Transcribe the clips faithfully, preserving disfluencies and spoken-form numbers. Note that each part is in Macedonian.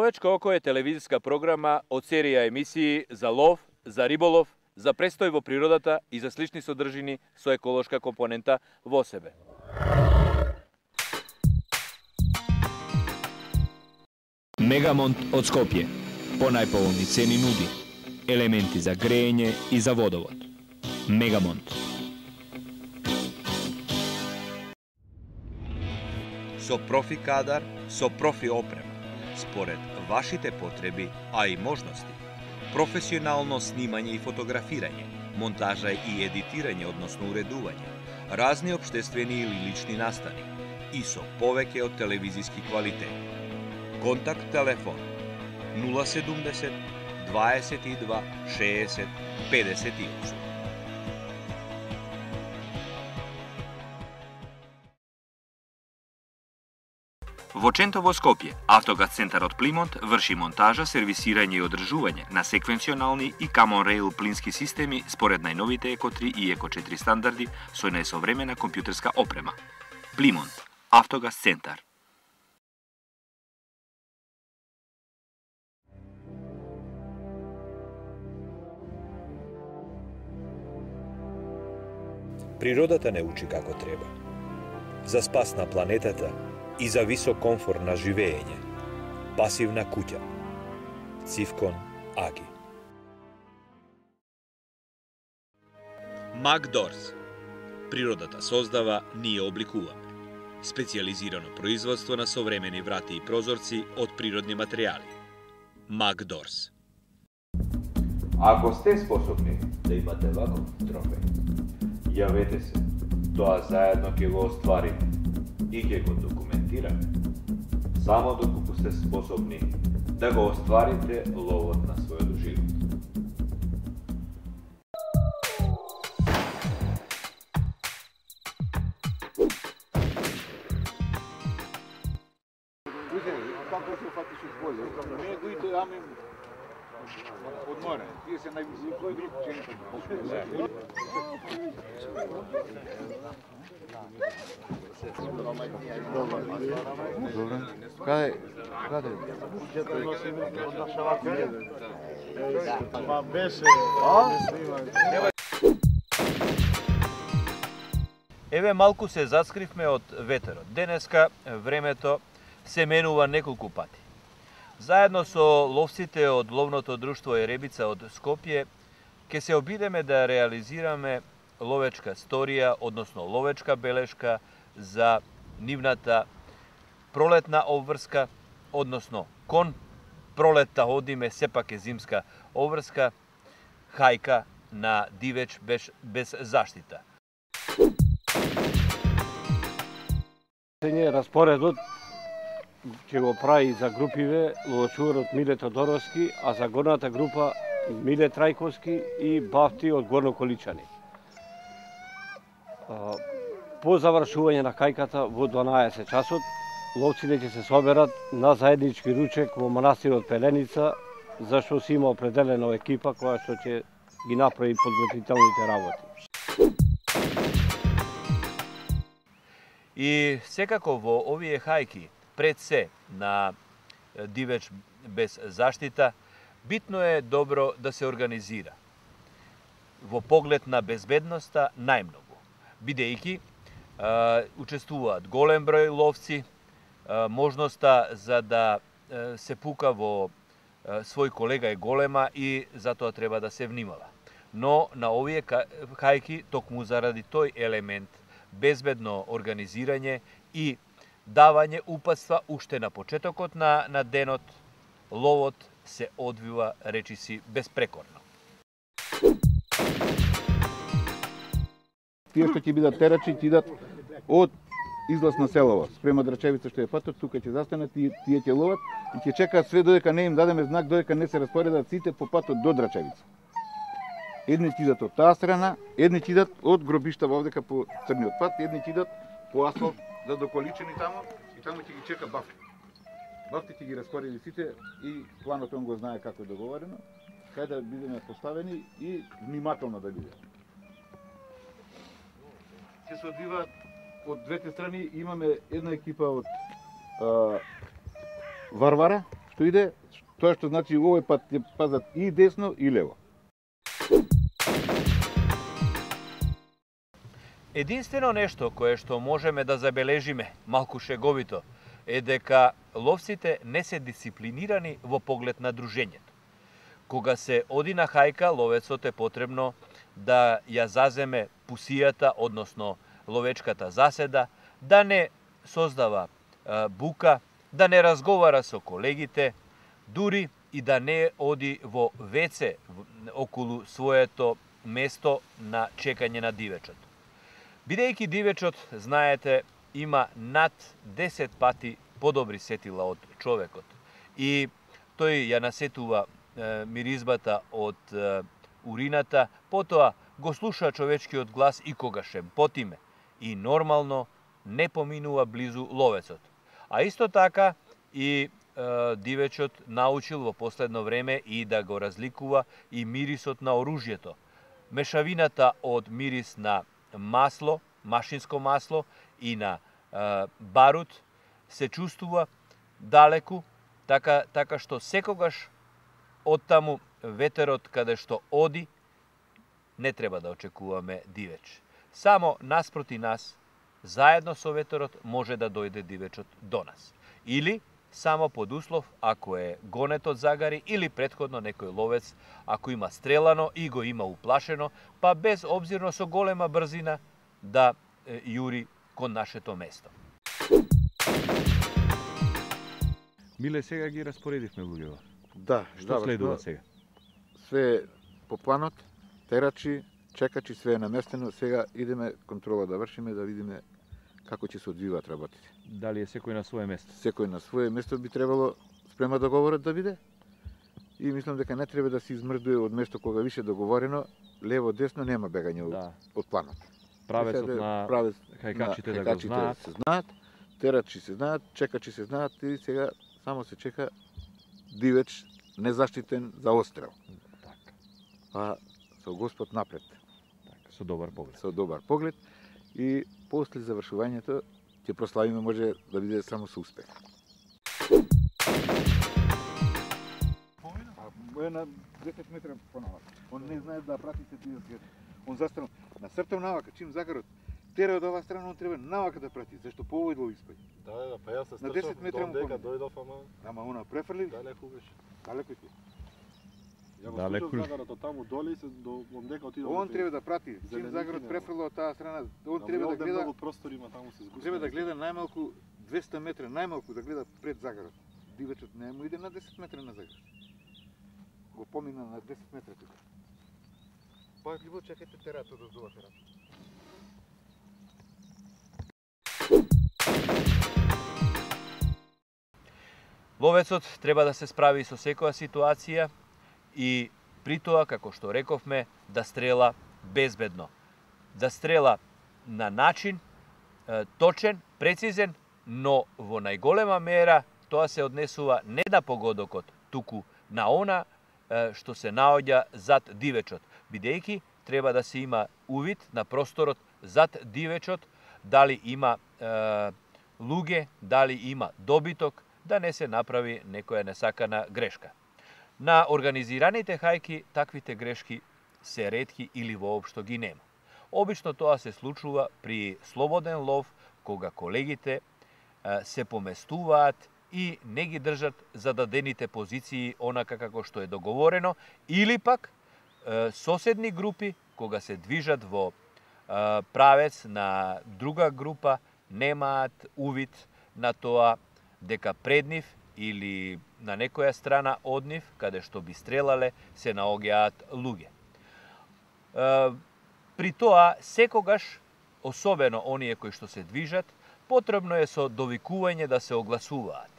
Ловечко око е телевизиска програма од серија емисии за лов, за риболов, за престој во природата и за слични содржини со еколошка компонента во себе. Мегамонт од Скопје. По најповолни цени нуди елементи за грејење и за водовод. Мегамонт. Со профи кадар, со профи опрема, според вашите потреби, а и можности. Професионално снимање и фотографирање, монтажа и едитирање, односно уредување, разни општествени или лични настани и со повеќе од телевизиски квалитет. Контакт телефон нула седумдесет дваесет и два шеесет педесет и осум. Во Ченто во Скопје, Автогаз центарот Плимонт врши монтажа, сервисирање и одржување на секвенционални и Common Rail плински системи според најновите Еко три и Еко четири стандарди со најсовремена компјутерска опрема. Плимонт, Автогаз центар. Природата не учи како треба. За спас на планетата и за висок комфорт на живење. Пасивна куќа. Цивкон Аги. Макдорс. Природата создава, ние обликуваме. Специализирано производство на современи врати и прозорци од природни материјали. Макдорс. Ако сте способни да имате ваков трофеј, јавете се. Тоа заедно ќе го остварите и ќе го документираме. Само доколку сте способни да го остварите ловот на својот живот. Од море, тие се највисоки, кој друг ченто? Добре. Каде? Каде? Ма беше. Еве малку се заскривме од ветерот. Денеска времето се менува неколку пати. Заедно со ловците од ловното друштво Еребица од Скопје, ќе се обидеме да реализираме ловечка сторија, односно ловечка белешка за нивната пролетна обврска, односно кон пролетта одиме, сепак е зимска обврска, хајка на дивеч без, без заштита. Распоредот ќе го прави за групиве ловочуварот Миле Тодоровски, а за горната група Миле Трајковски и Бафти од Горно Количани. По завршување на хајката во дванаесет часот, ловците ќе се соберат на заеднички ручек во манастирот Пеленица, зашто си има определена екипа која што ќе ги направи подготвителните работи. И секако во овие хајки, пред се на дивеч без заштита, битно е добро да се организира во поглед на безбедноста најмногу, бидејќи учествуваат голем број ловци, можноста за да се пука во свој колега е голема и затоа треба да се внимава. Но на овие хајки, токму заради тој елемент, безбедно организирање и давање упатства уште на почетокот на, на денот, ловот се одвива, речиси, безпрекорно. Тие што ќе бидат терачи, ќе идат од излаз на селово. Спрема Драчевица што е патот, тука ќе застанат и тие ќе ловат и ќе чекаат све додека не им дадеме знак, додека не се распоредат сите по патот до Драчевица. Едни ќе идат од таа страна, едни ќе идат од гробишта вовдека по црниот пат, едни ќе идат по асфалт за доколичени тамо и тамо ќе ги чека Бафти. Бафти ќе ги распореди сите и планот он го знае како е договорено, кај да бидеме поставени и внимателно да биде. Ќе се одвиваат од двете страни, имаме една екипа од а, Варвара, што иде, тоа што значи овој пат ќе пазат и десно и лево. Единствено нешто кое што можеме да забележиме, малку шеговито, е дека ловците не се дисциплинирани во поглед на дружењето. Кога се оди на хајка, ловецот е потребно да ја заземе пусијата, односно ловечката заседа, да не создава е, бука, да не разговара со колегите, дури и да не оди во веце околу своето место на чекање на дивечот. Бидејќи дивечот, знаете, има над десет пати подобри сетила од човекот и тој ја насетува е, миризбата од е, урината, потоа го слуша човечкиот глас и когаш е потиме и нормално не поминува близу ловецот. А исто така и е, дивечот научил во последно време и да го разликува и мирисот на оружјето. Мешавината од мирис на масло, машинско масло и на е, барут се чувствува далеку, така, така што секогаш од таму ветерот каде што оди, не треба да очекуваме дивеч. Само наспроти нас, заедно со ветерот, може да дојде дивечот до нас. Или само под услов, ако е гонетот загари, или претходно некој ловец, ако има стрелано и го има уплашено, па без обзирно со голема брзина да е, јури кон нашето место. Миле, сега ги распоредивме луѓето. Да, Што следува сега? Све по планот, терачи, чекачи, све е наместено. Сега идеме контрола да вршиме, да видиме како ќе се одвиваат работите. Дали е секој на свое место? Секој на свое место би требало спрема договорот да биде. И мислам дека не треба да се измрдуе од место кога више договорено, лево десно нема бегање Да. од планот. Правецот на правец хајкачите на да го хајкачите знаат. се знаат, терачи се знаат, чекачи се знаат и сега само се чека дивеч незаштитен за острел. Така, А со Господ напред, така, со добар поглед. со добар поглед и после завршувањето ќе прославиме, може да биде само со успех. А е на десет метра понавака. Он не знае да пратите тие свет. Он застанал на сртов навака, чим загарот тера од оваа страна, он треба навака да прати, зашто по овој дол испаѓа. Да, да, па јас се На стрчав, десет метра му дека поминав. дојдов, ама Ама она префрли, далеку беше. далеко ти. Ја го Далеку слушав ли? загарот од таму доле и се до дека отидов. Он треба да прати, чим Зеленики загарот нема. префрла од таа страна, он Ама треба да овде гледа, многу простор има, таму се згуста. треба да гледа најмалку двесте метра, најмалку да гледа пред загарот. Дивечот не му иде на десет метра на загарот. Го помина на десет метра тука. Пајливо чекајте терато да здува терато. Ловецот треба да се справи со секоја ситуација и при тоа, како што рековме, да стрела безбедно. Да стрела на начин е, точен, прецизен, но во најголема мера тоа се однесува не на погодокот, туку на она е, што се наоѓа зад дивечот, бидејќи треба да се има увид на просторот зад дивечот, дали има е, луѓе, дали има добиток, да не се направи некоја несакана грешка. На организираните хајки таквите грешки се ретки или воопшто ги нема. Обично тоа се случува при слободен лов, кога колегите е, се поместуваат и не ги држат зададените позиции онака како што е договорено, или пак е, соседни групи, кога се движат во е, правец на друга група, немаат увид на тоа дека пред нив или на некоја страна од нив, каде што би стрелале, се наоѓаат луѓе. Е, при тоа, секогаш, особено оние кои што се движат, потребно е со довикување да се огласуваат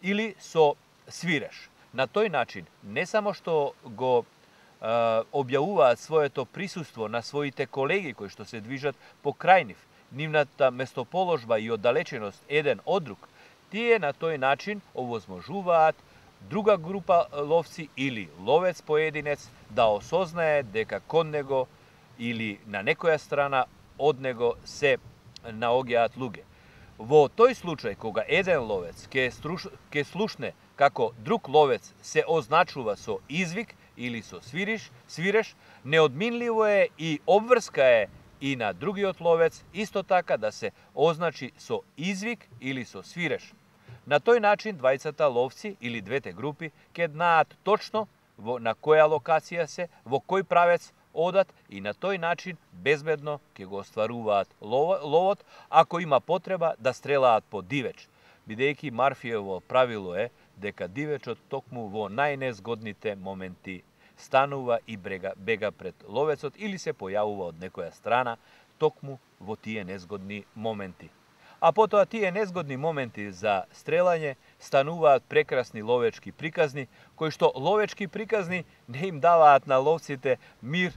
или со свиреш. На тој начин, не само што го е, објавуваат своето присуство на своите колеги кои што се движат покрај нив, нивната местоположба и оддалеченост еден од друг, тие на тој начин овозможуваат друга група ловци или ловец поединец да осознае дека кон него или на некоја страна од него се наоѓаат луѓе. Во тој случај, кога еден ловец ќе, струш... ќе слушне како друг ловец се означува со извик или со свириш, свиреш, неодминливо е и обврска е и на другиот ловец исто така да се означи со извик или со свиреш. На тој начин двајцата ловци или двете групи ќе знаат точно во на која локација се, во кој правец одат и на тој начин безбедно ќе го остваруваат ловот ако има потреба да стрелаат по дивеч, бидејќи Марфиево правило е дека дивечот токму во најнезгодните моменти станува и брега, бега пред ловецот или се појавува од некоја страна токму во тие незгодни моменти. А потоа тие незгодни моменти за стрелање стануваат прекрасни ловечки приказни, кои што ловечки приказни не им даваат на ловците мир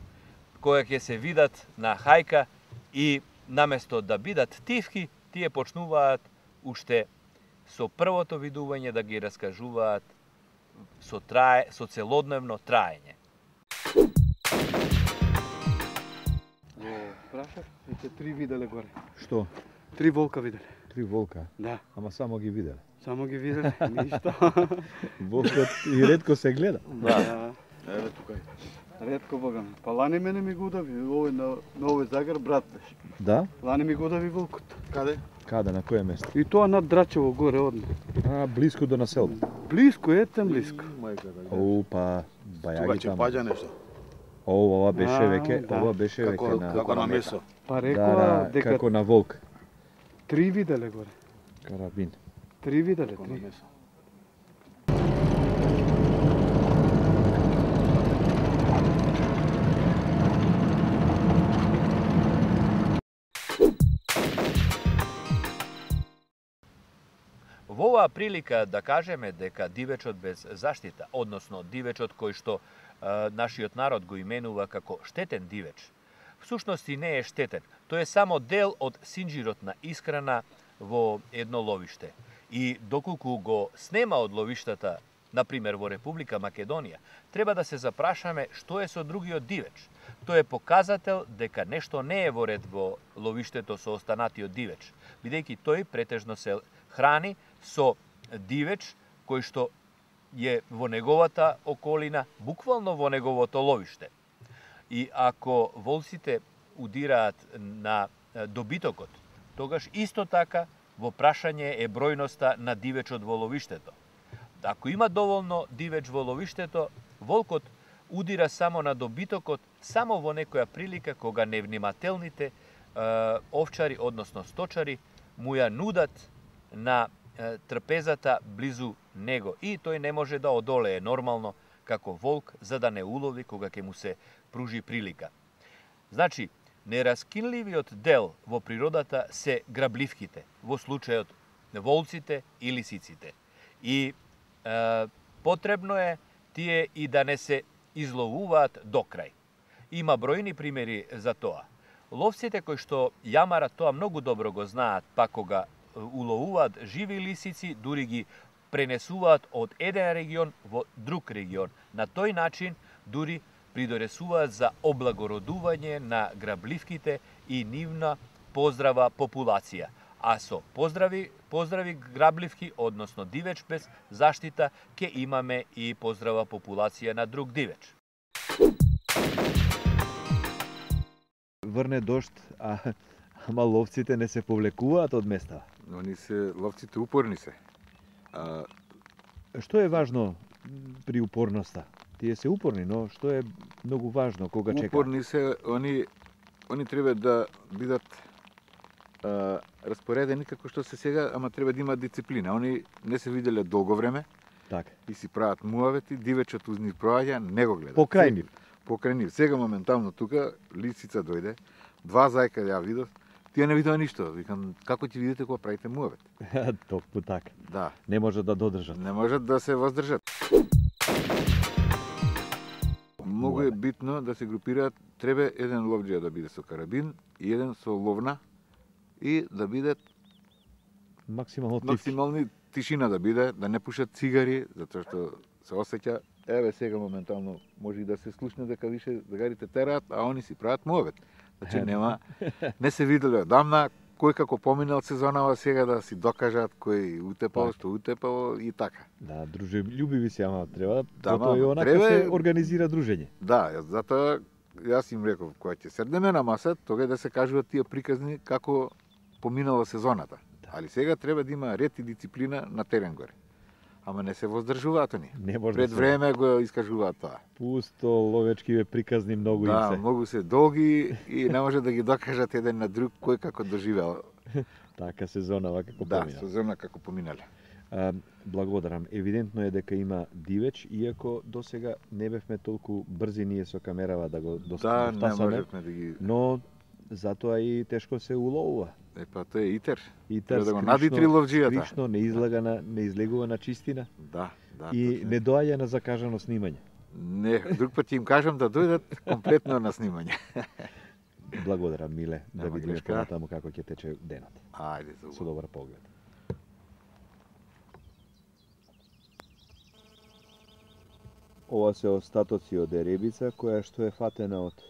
која ќе се видат на хајка и наместо да бидат тивки, тие почнуваат уште со првото видување да ги раскажуваат со трае, со целодневно траење. Прашав, веќе три виделе горе. Што? Три волка виделе. Три волка? Да. Ама само ги виделе? Само ги виделе, ништо. Волкот и ретко се гледа. Да. Еве тука. Ретко богам. Па лани мене ми го удави, овој на, на овој загар брат беше. Да? Лани ми го удави волкот. Каде? Каде, на које место? И тоа над Драчево горе одна. А, близко до населба. Близко, етем близко. О, па, бајаги Тука таму. паѓа нешто. О, ова беше А, веќе, да. ова беше Како, веќе на... како на месо. Па Да, рекоа да, дека како на волк. три виделе горе. Карабин. Три виделе, Како на три. месо. Во оваа прилика да кажеме дека дивечот без заштита, односно дивечот кој што е, нашиот народ го именува како штетен дивеч, всушности не е штетен. Тој е само дел од синџирот на исхрана во едно ловиште. И доколку го снема од ловиштата, например во Република Македонија, треба да се запрашаме што е со другиот дивеч. Тој е показател дека нешто не е во ред во ловиштето со останатиот дивеч, бидејќи тој претежно се храни со дивеч кој што е во неговата околина, буквално во неговото ловиште. И ако волците удираат на добитокот, тогаш исто така во прашање е бројноста на дивечот во ловиштето. Ако има доволно дивеч во ловиштето, волкот удира само на добитокот, само во некоја прилика кога невнимателните е, овчари, односно сточари, му ја нудат на е, трпезата близу него и тој не може да одолее нормално како волк за да не улови кога ќе му се пружи прилика. Значи, нераскинливиот дел во природата се грабливките, во случајот волците и лисиците. И е, потребно е тие и да не се изловуваат до крај. Има бројни примери за тоа. Ловците кои што јамарат тоа многу добро го знаат, па кога уловуваат живи лисици, дури ги пренесуваат од еден регион во друг регион. На тој начин дури придонесуваат за облагородување на грабливките и нивна поздрава популација. А со поздрави, поздрави грабливки, односно дивеч без заштита, ќе имаме и поздрава популација на друг дивеч. Врне дожд, а ама ловците не се повлекуваат од места. Они се, ловците упорни се. А, Што е важно при упорноста? Тие се упорни, но што е многу важно кога чекаат? упорни се, они, они треба да бидат а, распоредени како што се сега, ама треба да имаат дисциплина. Они не се виделе долго време Така. и си прават муавети, дивечот уз нив проаѓа, не го гледат. Покрај нив. Покрај нив. Сега моментално тука лисица дојде, два зајка ја видов, тие не видоа ништо. Викам, како ќе видите кога правите муавет? Токму така. Да, Не може да додржат. не можат да се воздржат. Многу е битно да се групираат, треба еден ловџија да биде со карабин и еден со ловна и да бидат Максимално тивки. максимални тишина да биде, да не пушат цигари, затоа што се осеќа, еве сега моментално може и да се слушне дека више загарите тераат, а они си прават муавет. Значи нема, не се виделе одамна, кој како поминал сезонава сега да си докажат кој утепал, Так. што утепал и така. Да, дружелюбиви си, ама треба, Да, затоа и ма, онака треба се е- организира дружење. Да, јас затоа јас им реков, кога ќе седнеме на маса, тога да се кажуваат тие приказни како поминала сезоната. Али сега треба да има ред и дисциплина на терен горе. Ама не се воздржуваат они. Не може Пред да се- време го искажуваат тоа. Пусто, ловечки ве приказни многу Да, им се. многу се долги и не може да ги докажат еден на друг кој како доживеал. Така сезонава како Да, помина. сезона како поминале. А, благодарам. Евидентно е дека има дивеч, иако досега не бевме толку брзи ние со камерава да го дос- Да, не дофасаме, можевме да ги... но затоа и тешко се уловува. Е, па тоа е итер. Итер Треба да го скришно- надитри ловџијата. скришно, не излага на, не излегува на чистина Да, да. и точно. не доаѓа на закажано снимање. Не, друг пат ќе им кажам да дојдат комплетно на снимање. Благодарам, Миле, да Нема видиме грешка. понатаму како ќе тече денот. Ајде, за Со добар поглед. Ова се остатоци од еребица која што е фатена од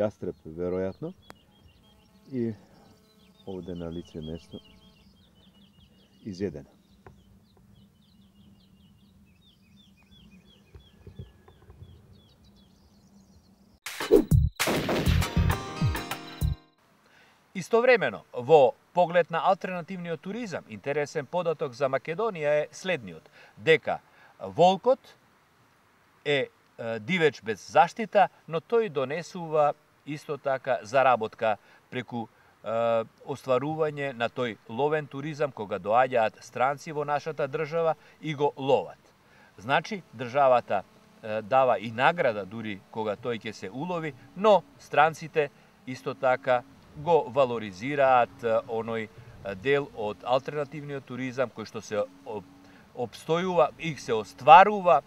јастреб веројатно и овде на лице место изедена. Истовремено, во поглед на алтернативниот туризам, интересен податок за Македонија е следниот, дека волкот е е, дивеч без заштита, но тој донесува исто така заработка преку е, остварување на тој ловен туризам кога доаѓаат странци во нашата држава и го ловат. Значи, државата е, дава и награда дури кога тој ќе се улови, но странците исто така го валоризираат е, оној е, дел од алтернативниот туризам кој што се об- обстојува и се остварува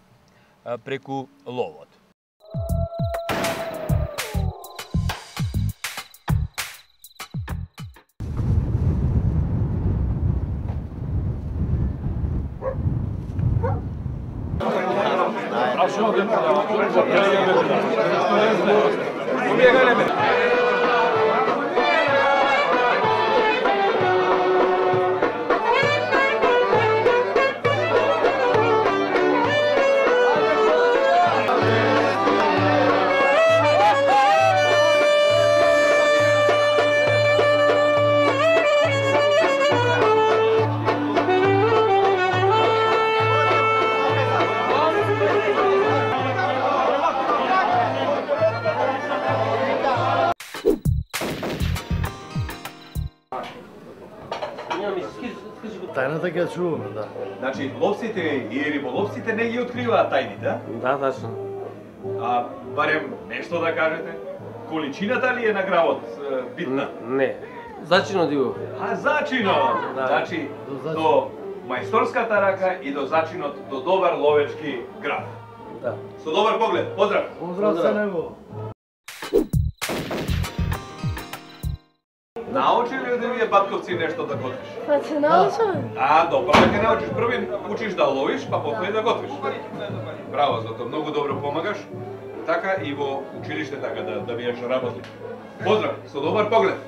е, преку ловот. Тајната ќе ја чуваме, да. Значи, ловците и риболовците не ги откриваат тајните, Да, тачно. а барем нешто да кажете? Количината ли е на гравот е, битна? Не. Зачино диго. А зачинот! Да. Значи, До до мајсторската рака и до зачинот, до добар ловечки грав. Да. Со добар поглед, поздрав! Поздрав за него. Научи ли од овие батковци нешто да готвиш? Па се научам. А, добро да ќе научиш. Први учиш да ловиш, па потоа и да готвиш. Браво, зато многу добро помагаш. Така и во училиште така да да биеш работи. Поздрав, со добар поглед.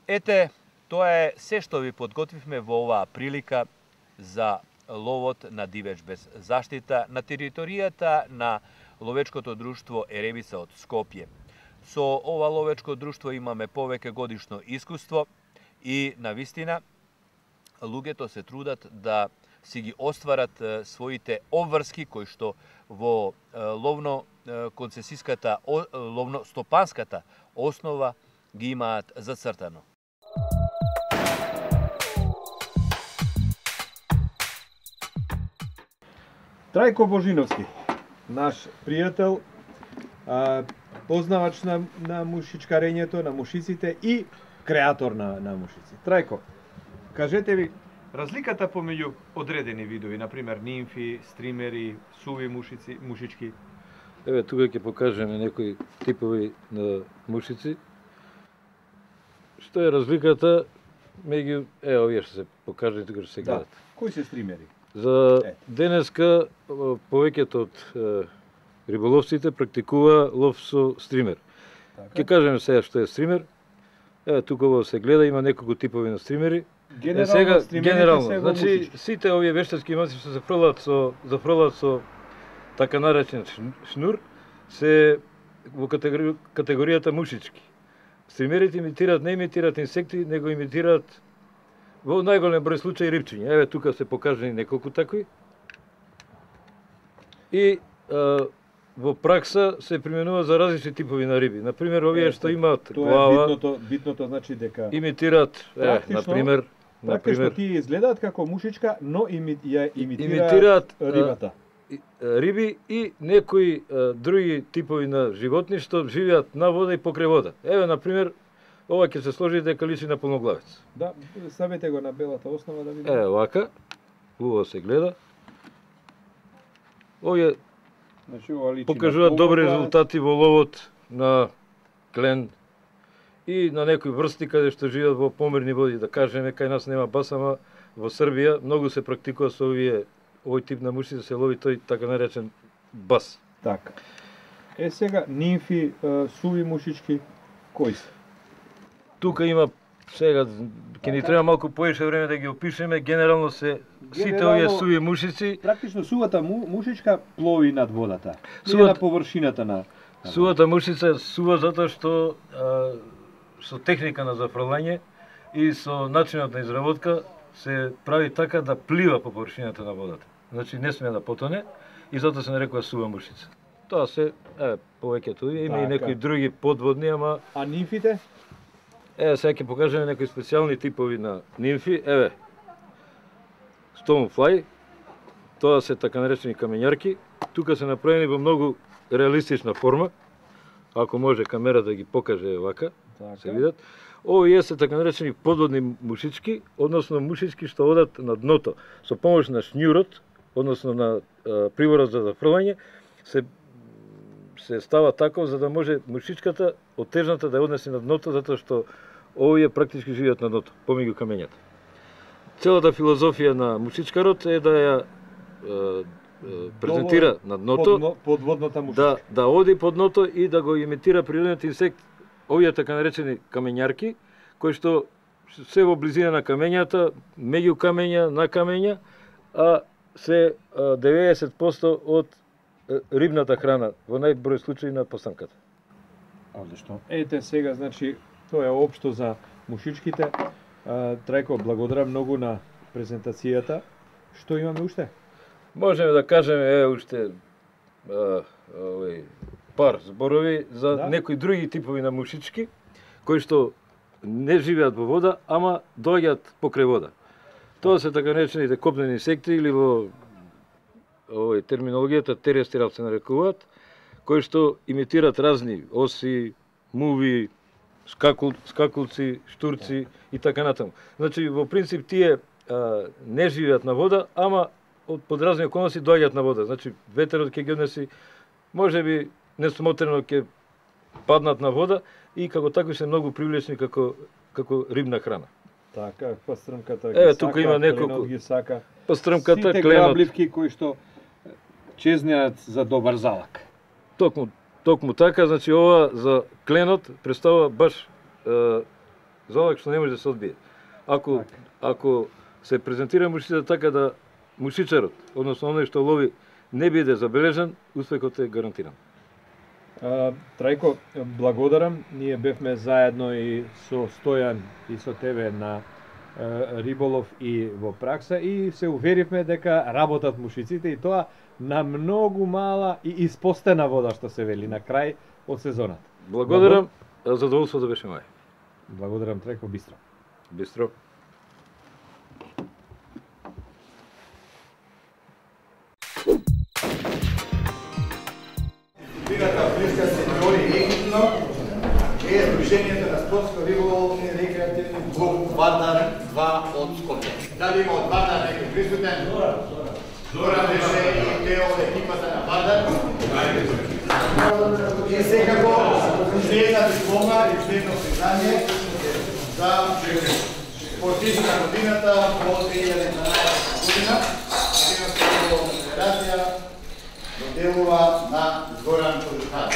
Ете, тоа е се што ви подготвивме во оваа прилика за ловот на дивеч без заштита на територијата на ловечкото друштво Еребица од Скопје. Со ова ловечко друштво имаме повеќе годишно искуство и навистина луѓето се трудат да си ги остварат е, своите обврски кои што во е, ловно е, концесиската о- ловно стопанската основа ги имаат зацртано. Трајко Божиновски, наш пријател, а, познавач на, на мушичкарењето, на мушиците и креатор на, на мушици. Трајко, кажете ви разликата помеѓу одредени видови, например нимфи, стримери, суви мушици, мушички. Еве тука ќе покажеме некои типови на мушици. Што е разликата меѓу е овие што се покажани тука што се гледат. Кои се стримери? За денеска повеќето од е, риболовците практикува лов со стример. Ќе кажеме сега што е стример. Еве тука се гледа, има неколку типови на стримери. Генерално, е, сега генерално, се значи мушички. сите овие вештачки маси што се фрлат со зафрлат со така наречен шнур се во категори, категоријата мушички. Стримерите имитираат, не имитираат инсекти, него имитираат во најголем број случаи рибчиња. Еве тука се покажани неколку такви. И а, во пракса се применува за различни типови на риби. На пример, овие што имаат Тоа глава, е битното, битното значи дека имитираат, е, на пример, на практично пример, тие изгледаат како мушичка, но ими, ја имитираат, имитираат рибата. а, риби и некои а, други типови на животни што живеат на вода и покрај вода. Еве, на пример, ова ќе се сложи дека личи на полноглавец. Да, ставете го на белата основа да видиме. Е, вака, убаво се гледа. Овие Значи, ова личи покажуваат на добри полноглавец. резултати во ловот на клен и на некои врсти каде што живеат во померни води, да кажеме, кај нас нема бас, ама во Србија многу се практикува со овие овој тип на муши да се лови тој така наречен бас. Така. Е сега нимфи, е, суви мушички, кои се? Тука има сега ќе ни треба малку поише време да ги опишеме, генерално се сите Генерално, овие суви мушици. Практично сувата му, мушичка плови над водата. Не Суват- на површината на... Сувата мушица сува затоа што а, со техника на зафрлање и со начинот на изработка се прави така да плива по површината на водата. Значи не сме да потоне и затоа се нарекува сува мушица. Тоа се е повеќето има и Така. некои други подводни, ама А нимфите? еве сега ќе покажеме некои специјални типови на нимфи. Еве Stonefly, тоа се така наречени камењарки. Тука се направени во многу реалистична форма. Ако може камера да ги покаже вака, Така. се видат. Овие се така наречени подводни мушички, односно мушички што одат на дното со помош на шњурот, односно на а, приворот за зафрлање, се се става тако за да може мушичката од тежната да ја однесе на дното, затоа што овие практички живеат на дното, помеѓу камењата. Целата филозофија на мушичкарот е да ја е, е, презентира на дното, Подно, подводната мушичка. да да оди под дното и да го имитира природниот инсект, овие така наречени камењарки, кои што се во близина на камењата, меѓу камења, на камења, а се а, деветдесет проценти од е, рибната храна, во најброј случаи на постанката. Одлично. Ете сега, значи, тоа е општо за мушичките. А, Трајко, благодарам многу на презентацијата. Што имаме уште? Можеме да кажеме е уште а, овој пар зборови за Да. некои други типови на мушички кои што не живеат во вода, ама доаѓаат покрај вода. Тоа се така наречените копнени инсекти или во овој терминологијата терестрал се нарекуваат, кои што имитираат разни оси, муви, скакул, скакулци, штурци и така натаму. Значи во принцип тие а, не живеат на вода, ама од под разни околности доаѓаат на вода. Значи ветерот ќе ги однеси, можеби несмотрено ќе паднат на вода и како такви се многу привлечни како како рибна храна. Така, пастрмката Еве, ги тука сака, има кленот неколку. ги сака. Пастрмката, Сите кленот. грабливки кои што чезнеат за добар залак. Токму, токму така, значи ова за кленот представува баш е, залак што не може да се одбие. Ако ако се презентира мушицата така да мушичарот, односно оној што лови, не биде забележан, успехот е гарантиран. А, Трајко, благодарам. Ние бевме заедно и со Стојан и со тебе на е, риболов и во пракса и се уверивме дека работат мушиците и тоа на многу мала и испостена вода што се вели на крај од сезоната. Благодарам, задоволство да беше мој. Благодарам, Трајко, бистро. Бистро. Дисциплината Блиска сеньори Египно е Сдруженијето на спортско риболовни и рекреативни клуб Вардар два од Скопје. Дали има од Вардар некој присутен? Зоран беше и дел од екипата на Вардар. И секако уште една диплома и уште едно признање за спортист на годината во две илјади и дванаесета година. Македонска риболовна федерација доделува на Горан Кожухар.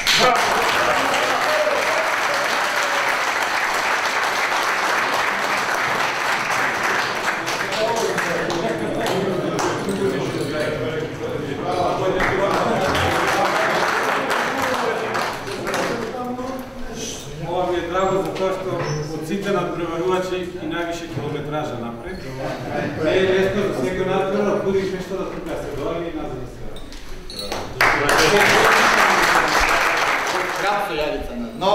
Ова ми е драго затоа што од сите надпреварувачи и највише километража напред. Не е лесно за секој надпревар, будиш нешто да тука се доаѓа и назад да се врати. Крап со јадица на дно,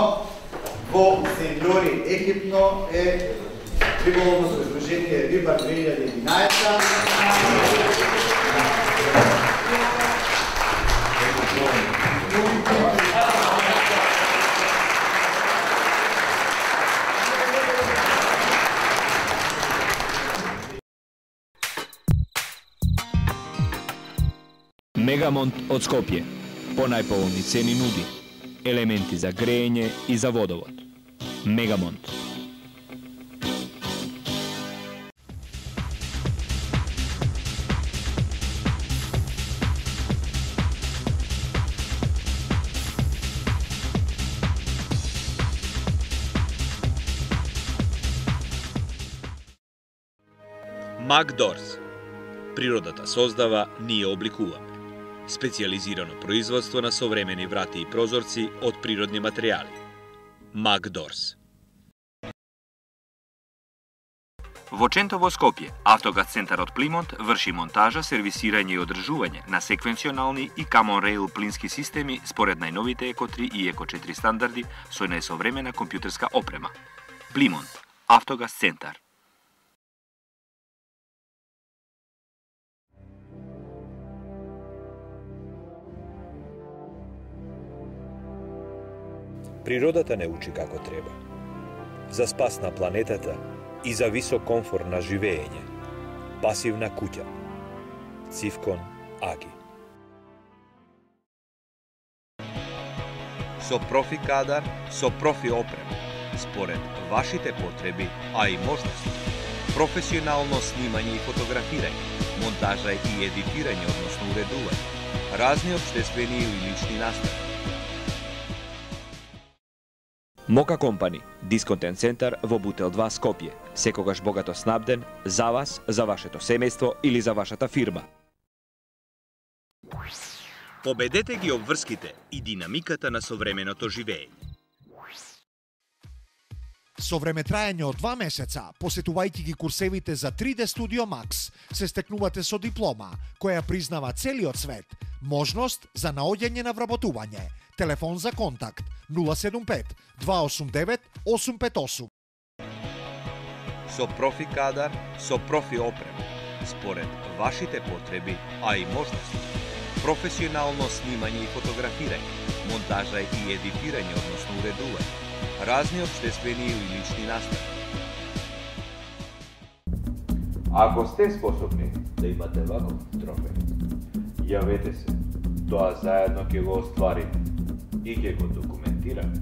во Сенјори екипно е риболовно содружение Рибар две илјаде и единаесетта. Мегамонт од Скопје. По најповолни цени нуди елементи за грејење и за водовод. Мегамонт. Макдорс. Природата создава, ние обликуваме. Специјализирано производство на современи врати и прозорци од природни материјали. Макдорс. Во Чентово, Скопје, Автогаз центарот Плимонт врши монтажа, сервисирање и одржување на секвенционални и Common Rail плински системи според најновите Еко три и Еко четири стандарди со најсовремена компјутерска опрема. Плимонт, Автогаз центар. Природата не учи како треба. За спас на планетата и за висок комфор на живење. Пасивна куќа. Цивкон Аги. Со профи кадар, со профи опрема, според вашите потреби, а и можности. Професионално снимање и фотографирање, монтажа и едитирање, односно уредување, разни општествени или лични настави. Мока Компани, дисконтен центар во Бутел два Скопје. Секогаш богато снабден за вас, за вашето семејство или за вашата фирма. Победете ги обврските и динамиката на современото живење. Со времетраење од два месеца, посетувајќи ги курсевите за три Д Studio Max, се стекнувате со диплома, која признава целиот свет, можност за наоѓање на вработување. Телефон за контакт нула седум пет два осум девет осум пет осум. Со профи кадар, со профи опрема, според вашите потреби, а и можности. Професионално снимање и фотографирање, монтажа и едитирање, односно уредување, разни општествени или лични настави. Ако сте способни да имате ваков трофеј, јавете се, тоа заедно ќе го остварите и ќе го документираме.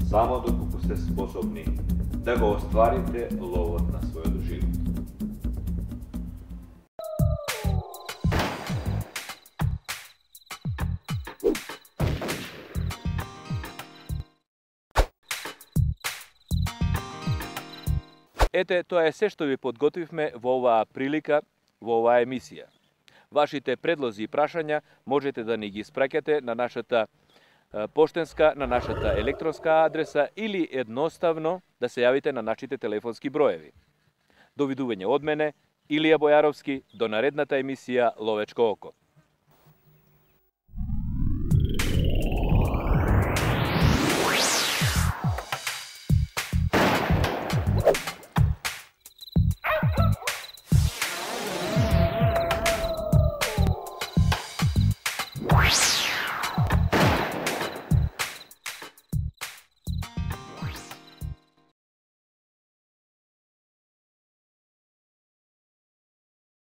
Само доколку сте способни да го остварите ловот на својот живот. Ете, тоа е се што ви подготвивме во оваа прилика, во оваа емисија. Вашите предлози и прашања можете да ни ги испраќате на нашата поштенска, на нашата електронска адреса или едноставно да се јавите на нашите телефонски броеви. Довидување од мене, Илија Бојаровски, до наредната емисија Ловечко око. Ah!